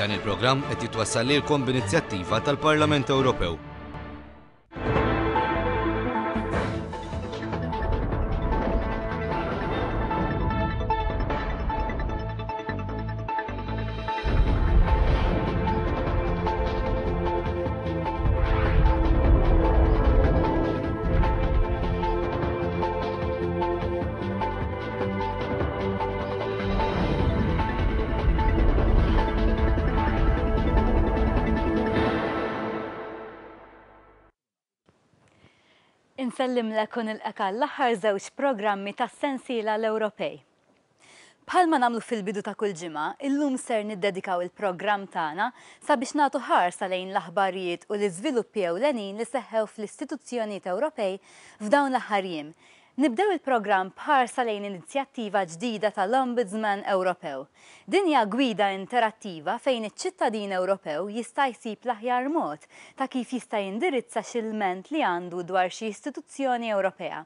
Dan il-programm qed jitwassal lilkom b'inizjattiva tal-Parlament Ewropew. Insellimlek u nilqek għall-aħħar żewġ programmi tas-sensiela l-Ewropej. Bħalma nagħmlu fil-bidu ta' kull ġimgħa, illum ser niddedikaw il-programm tagħna sabiex nagħtu ħarsa lejn l-aħbarijiet u l-iżviluppi ewlenin li seħħew fl-istituzzjonijiet Ewropej f'dawn l-aħħar jiem. Nibdew il-programm b'ħarsa lejn inizjattiva ġdida tal-Ombudsman Ewropew. Din hija gwida interattiva fejn iċ-ċittadin Ewropew jista' jsib l-aħjar mod ta' kif jista' jindirizza xi lment li għandu dwar xi istituzzjoni Ewropea.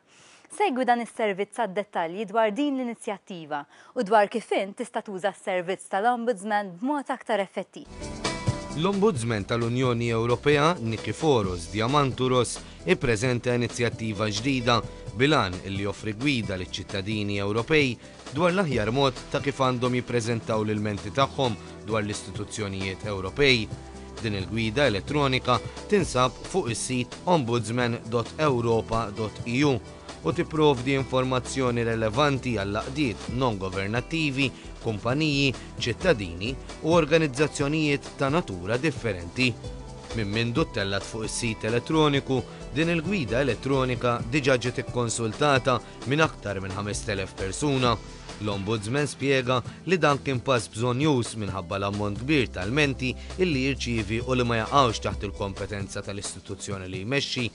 Segwi dan is-servizz għad-dettalji dwar din l-inizjattiva u dwar kif int tista' tuża s-servizz tal-Ombudsman b'mod aktar effettiv. L-Ombudsman tal-Unjoni Ewropea, Nikiforos Diamandouros, ippreżenta inizjattiva ġdida bil-għan li joffri gwida liċ-ċittadini Ewropej dwar l-aħjar mod ta' kif għandhom jippreżentaw l-ilmenti tagħhom dwar l-istituzzjonijiet Ewropej. Din il-gwida elettronika tinsab fuq is-sit ombudsman.europa.eu u tipprovdi informazzjoni relevanti għall-għaqdiet non-governattivi, kumpaniji, ċittadini u organizzazzjonijiet ta' natura differenti. Minn mindu ttellgħet fuq is-sit elettroniku, din il-gwida elettronika diġà ġiet ikkonsultata minn aktar minn 5,000 persuna. L-Ombudsman spjega li dan kien pass bżonnjuż minħabba l-ammont kbir ta' lmenti illi jirċievi u li ma jaqgħux taħt il-kompetenza tal-istituzzjoni li jmexxi.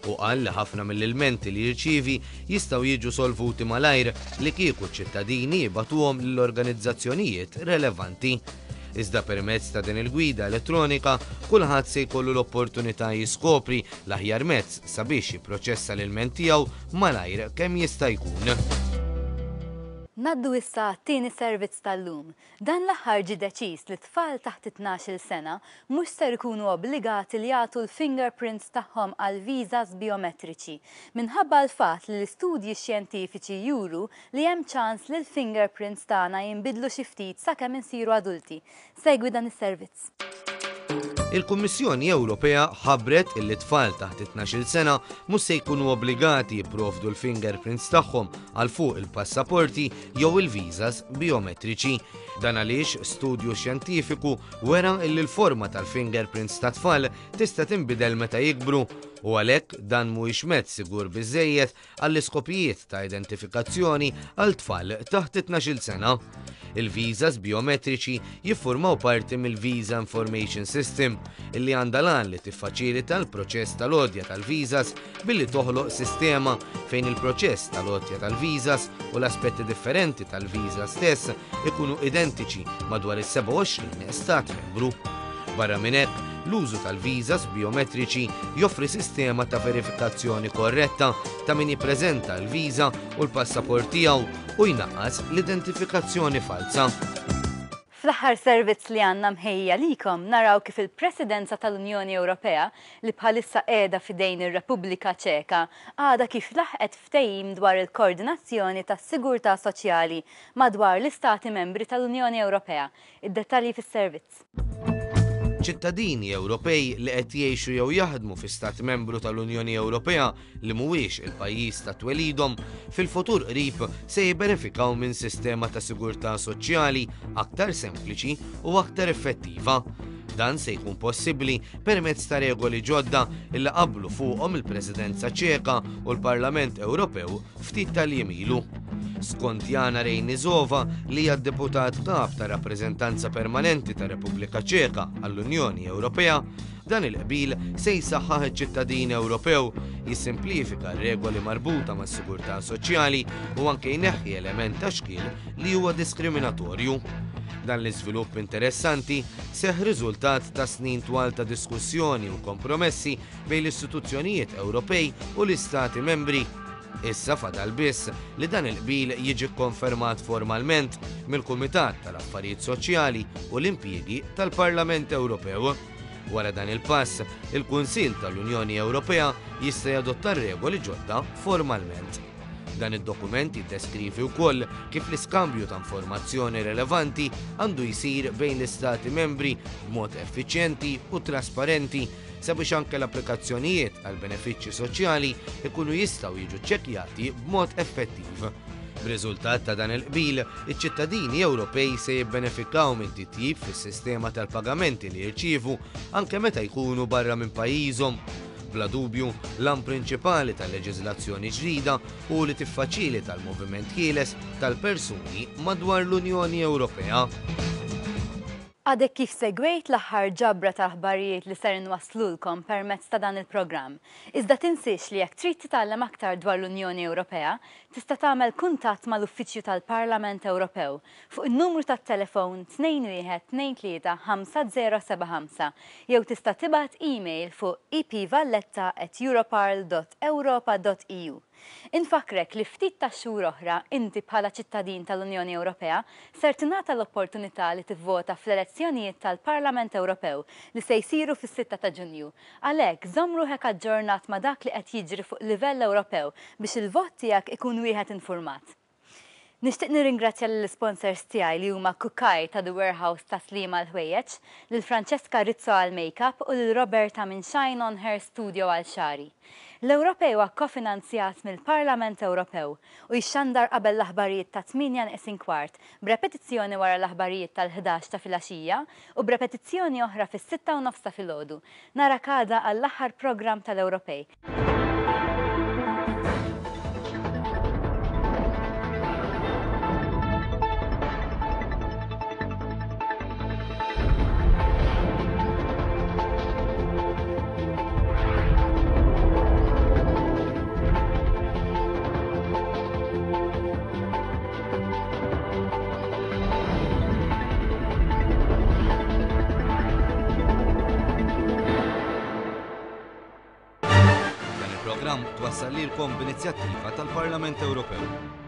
Hu qal li ħafna mill-ilmenti li jirċievi jistgħu jiġu solvuti malajr li kieku ċ-ċittadini jibagħtuhom lill-organizzazzjonijiet relevanti. Iżda permezz ta' din il-gwida elettronika, kulħadd se jkollu l-opportunità jiskopri l-aħjar mezz sabiex jipproċessa l-ilment tiegħu malajr kemm jista' jkun. Ngħaddu issa għat-tieni servizz tal-lum. Dan l-aħħar ġie deċiż li tfal taħt it-tnax-il sena mhux ser ikunu obbligati li jagħtu l-fingerprints tagħhom għal visas bijometriċi minħabba l-fatt li l-istudji xjentifiċi juru li hemm ċans li l-fingerprints tagħna jinbidlu xi ftit sakemm insiru adulti. Segwi dan is-servizz. Il-Kummissjoni Ewropea ħabbret illi tfal taħt it-tnax-il sena mhux se jkunu obbligati jipprovdu l-fingerprints tagħhom għal fuq il-passaporti jew il-visas bijometriċi. Dan għaliex studju xjentifiku wera illi l-forma tal-fingerprints tat-tfal tista' tinbidel meta jikbru u għalhekk dan mhuwiex mezz sigur biżżejjed għall-iskopijiet ta' identifikazzjoni għal tfal taħt it-tnax-il sena. Il-viżas bijometriċi jiffurmaw parti mill-Visa Information System, illi għandha l-għan li tiffaċilita l-proċess tal-għotja tal-viżas billi toħloq sistema fejn il-proċess tal-għotja tal-viżas u l-aspetti differenti tal-viża stess ikunu identiċi madwar is-27 stat membru. Barra minn hekk, l-użu tal-viżas bijometriċi joffri sistema ta' verifikazzjoni korretta ta' min jippreżenta l-viża u l-passaport tiegħu u jnaqqas l-identifikazzjoni falza. Fl-aħħar servizz li għandna mħejji għalikom naraw kif il-Presidenza tal-Unjoni Ewropea, li bħalissa qiegħda f'idejn ir-Repubblika Ċeka, għadha kif laħqet ftehim dwar il-koordinazzjoni tas-sigurtà soċjali madwar l-Istati Membri tal-Unjoni Ewropea. Id-dettalji fis-servizz. Ċittadini Ewropej li qed jgħixu jew jaħdmu fi Stat Membru tal-Unjoni Ewropea li mhuwiex il-pajjiż ta' twelidhom, fil-futur qrib se jibbenefikaw minn sistema ta' sigurtà soċjali aktar sempliċi u aktar effettiva. Dan se jkun possibbli permezz ta' regoli ġodda li qablu fuqhom il-Presidenza Ċeka u l-Parlament Ewropew ftit tal-jiem ilu. Skont Jana Rejnizova, li hija d-deputat kap ta' rappreżentanza permanenti tar-Repubblika Ċeka għall-Unjoni Ewropea, dan il-qbil se jsaħħaħ iċ-ċittadin Ewropew, jissimplifika r-regoli marbuta mas-sigurtà soċjali u anke jneħħi element ta' xkiel li huwa diskriminatorju. Dan l-iżvilupp interessanti seħħ riżultat ta' snin twal ta' diskussjoni u kompromessi bejn l-istituzzjonijiet Ewropej u l-Istati Membri. Issa fadal biss li dan il-qbil jiġi kkonfermat formalment mill-Kumitat tal-Affarijiet Soċjali u l-Impjiegi tal-Parlament Ewropew. Wara dan il-pass, il-Kunsill tal-Unjoni Ewropea jista' jadotta regoli ġodda formalment. Dan id-dokument jiddeskrivi wkoll kif l-iskambju ta' informazzjoni relevanti għandu jsir bejn l-Istati membri b'mod effiċjenti u trasparenti sabiex anke l-applikazzjonijiet għal benefiċċji soċjali jkunu jistgħu jiġu ċċekkjati b'mod effettiv. B'riżultat ta' dan il-qbil, iċ-ċittadini Ewropej se jibbenefikaw minn titjib fis-sistema tal-pagamenti li jirċievu anke meta jkunu barra minn pajjiżhom. Bla dubju, l-għan prinċipali tal-leġiżlazzjoni ġdida hu li tiffaċilita l-moviment ħieles tal-persuni madwar l-Unjoni Ewropea. Għadek kif segwejt l-aħħar ġabra ta' aħbarijiet li ser inwasslulkom permezz ta' dan il-programm. Iżda tinsiex li jekk trid titgħallem aktar dwar l-Unjoni Ewropea, tista' tagħmel kuntatt mal-Uffiċċju tal-Parlament Ewropew fuq in-numru tat-telefon 2123 5075 jew tista' tibgħat email fuq epvalletta@europarl.europa.eu. Infakkrek li ftit tax-xhur oħra inti bħala ċittadin tal-Unjoni Ewropea ser tingħata l-opportunità li tivvota fl-elezzjonijiet tal-Parlament Ewropew li se jsiru fis-sitta ta' Ġunju. Għalhekk, żomm ruħek aġġornat ma' dak li qed jiġri fuq livell Ewropew biex il-vot tiegħek ikun wieħed infurmat. Nixtieq nirringrazzja lill-isponsors tiegħi li huma Kukaj ta' The Warehouse ta' Sliema għall-ħwejjeġ, lil Francesca Rizzo għall-makeup u lil Roberta minn Shine On Hair Studio għal xagħri. L-Ewropej huwa kkofinanzjat mill-Parlament Ewropew u jixxandar qabel l-aħbarijiet tat-tmienja neqsin kwart, b'repetizzjoni wara l-aħbarijiet tal-ħdax ta' filgħaxija u b'repetizzjoni oħra fis-sitta u nofs ta' filgħodu. Narak għada għall-aħħar programm tal-Ewropej. Dan il-programm twassal lilkom b'inizjattiva tal-Parlament Ewropew.